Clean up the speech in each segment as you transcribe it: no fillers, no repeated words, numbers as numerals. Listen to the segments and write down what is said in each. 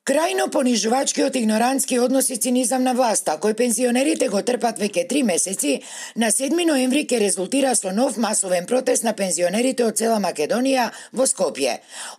Крајно понижувачкиот игнорантски однос и цинизам на власта, кој пензионерите го трпат веќе 3 месеци, на 7 ноември ќе резултира со нов масовен протест на пензионерите од цела Македонија во Скопје.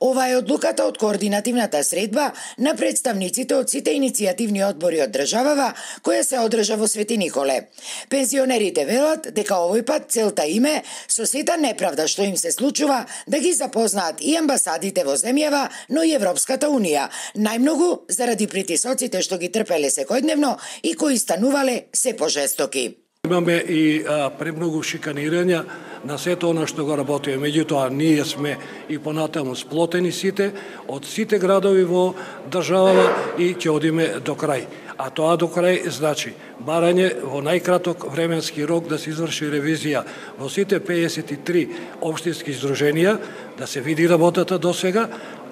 Ова е одлуката од координативната средба на представниците од сите иницијативни одбори од државава, која се одржа во Свети Николе. Пензионерите велат дека овој пат целта им е со сета неправда што им се случува да ги запознаат и амбасадите во земјава, но и Европската Унија, најмногу заради притисоците што ги трпеле секојдневно и кои станувале се пожестоки. Имаме и премногу шиканирања на сето она што го работиме. Меѓутоа, ние сме и понатаму сплотени сите, од сите градови во државава и ќе одиме до крај. А тоа до крај значи барање во најкраток временски рок да се изврши ревизија во сите 53 општински здруженија, да се види работата до сега,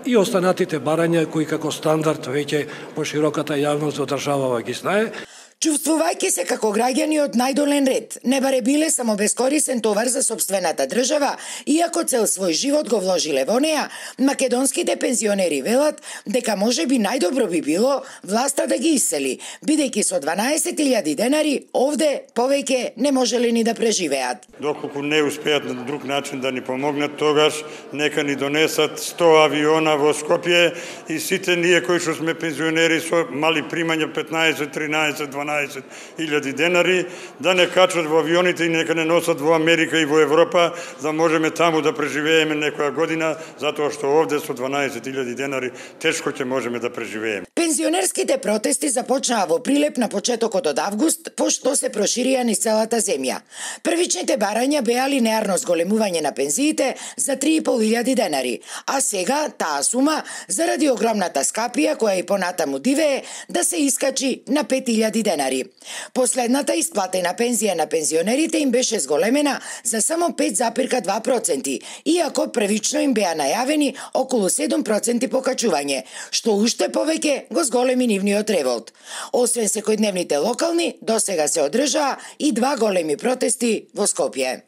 и останатите барања кои како стандард веќе по широката јавност во државава ги знае. Чувствувајќи се како граѓани од најдолен ред, не баре биле само бескорисен товар за сопствената држава, иако цел свој живот го вложиле во неа, македонските пензионери велат дека можеби најдобро би било власта да ги исели, бидејќи со 12.000 денари овде повеќе не можеле ни да преживеат. Доколку не успеат на друг начин да ни помогнат, тогаш нека ни донесат 100 авиона во Скопје и сите ние кои што сме пензионери со мали примања 15, 13, 12.000 денари, да не качат во авионите и нека не носат во Америка и во Европа, да можеме таму да преживееме некоја година, затоа што овде со 12.000 денари тешко ќе можеме да преживееме. Пензионерските протести започнаа во Прилеп на почетокот од август, пошто се проширија низ целата земја. Првичните барања беа линеарно зголемување на пензиите за 3.500 денари, а сега таа сума, заради огромната скапија која и понатаму дивее, да се искачи на 5.000 денари. Последната исплатена пензија на пензионерите им беше зголемена за само 5,2%, иако првично им беа најавени околу 7% покачување, што уште повеќе го зголеми нивниот револт. Освен секојдневните локални, досега се одржаа и 2 големи протести во Скопје.